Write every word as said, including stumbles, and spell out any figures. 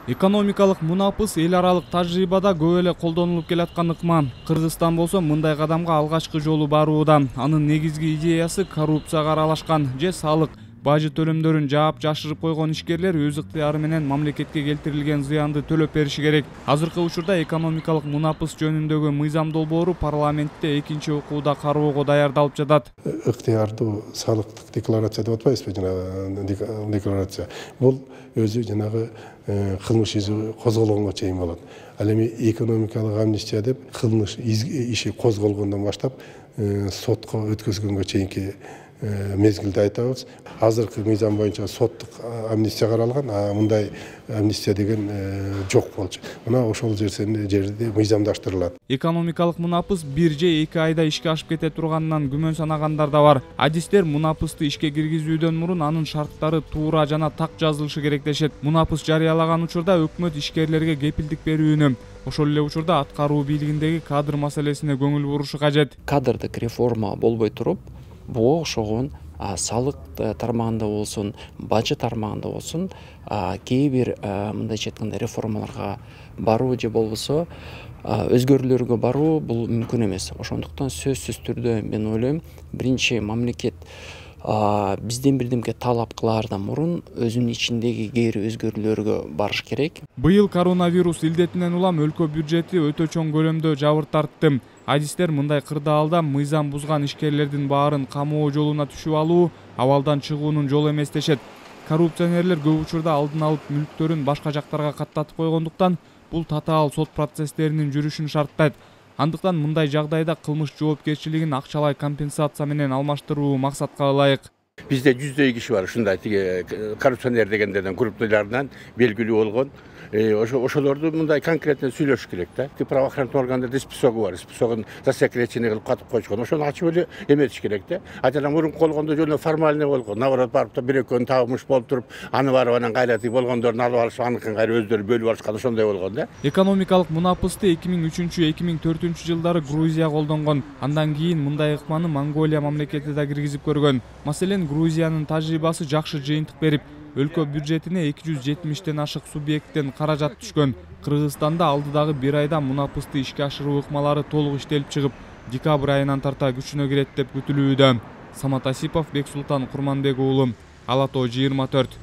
Экономикалык мунапыс эл аралык тажрыйбада көп эле колдонулуп келаткан ыкма. Кыргызстан болсо мындай кадамга алгачкы жолу барууда. Анын негизги идеясы коррупцияга аралашкан же салык, бажы төлөмдөрүн жаап жашырып койгон ишкерлер өз ыктыяры менен мамлекетке келтирилген зыянды төлөп бериши керек. Азыркы учурда экономикалык мунапыс жөнүндөгү мыйзам долбоору парламентте экинчи окууда кароого даярдалып жатат. Ыктыярдуу салыктык декларация деп атпайбызбы, жанагы декларация. Бул өзү жанагы кылмыш иши козголгонго чейин болот. Ал эми экономикалык амнистия деп кылмыш иши козголгондон баштап сотко өткөзгөнгө чейинки мезгилде айтабыз. Азыркы мыйзам боюнча соттук амнистия каралган, а мындай амнистия деген жок болчу. Мына ошол жерде мыйзамдаштырылат. Экономикалык мунапыс бир же эки айда ишке ашып кете турганынан күмөн санагандар да бар. Адистер мунапысты ишке киргизүүдөн мурун анын шарттары туура жана так жазылышы керек дешет. Мунапыс жарыялаган учурда өкмөт ишкерлерге кепилдик берүүнү, ошол эле учурда аткаруу бийлигиндеги кадр маселесине көңүл бурушу кажет. Кадрдык реформа болбой туруп, бул ошогон салык тармагында болсун, бажы тармагында болсун, кээ бир мындайча айтканда реформаларга баруу же болбосо өзгөрүүлөргө баруу бул мүмкүн эмес. Ошондуктан сөзсүз түрдө мен ойлойм, биринчи мамлекет бизден бирдемке талап кылаардан мурун өзүнүн ичиндеги кээ бир өзгөрүүлөргө барыш керек. Быйыл коронавирус илдетинен улам өлкө бюджети өтө чоң көлөмдө жабыр тартты. Адистер мындай кырдаалда мыйзам бузган ишкерлердин баарын камоо жолуна түшүп алуу абалдан чыгуунун жолу эмес дешет. Коррупционерлер көп учурда алдын алып мүлктөрүн башка жактарга каттатып койгондуктан бул татаал сот процесстеринин жүрүшүн шарттайт. Андыктан мындай жагдайда кылмыш жоопкерчилигин акчалай компенсация менен алмаштыруу максатка ылайык. Бизде жүздөй киши бар, ушундай тиги коррупционер дегендерден, группалардан белгилүү болгон. Ошолорду мындай конкретно сүйлөш керек да. Правоохранительный органдарда списогу бар, списогун засекреченный кылып катып койчу. Ошону ачып эле эметиш керек да. А жана мурун болгондо жөн формальный болгон. Наоборот, барып да бир экөөнү табылмыш болуп туруп, аны барып анан кайра болгондорун алып алышып, аныкын кайра өздөрү бөлүп алышкан, ошондой болгон да. Экономикалык мунапысты эки миң үчүнчү эки миң төртүнчү жылдары Грузия колдонгон. Андан кийин мындай ыкманы Монголия мамлекети да киргизип көргөн. Маселен, Грузиянын тажрыйбасы жакшы жыйынтык берип, өлкө бюджетине эки жүз жетимиштен ашык субъекттен каражат түшкөн. Кыргызстанда алдыдагы бир айда мунапысты ишке ашыруу ыкмалары толук иштелип чыгып, декабрь айынан тарта күчүнө кирет деп күтүлүүдө. Самат Асипов, Бексултан Курманбек уулу, Ала Тоо жыйырма төрт.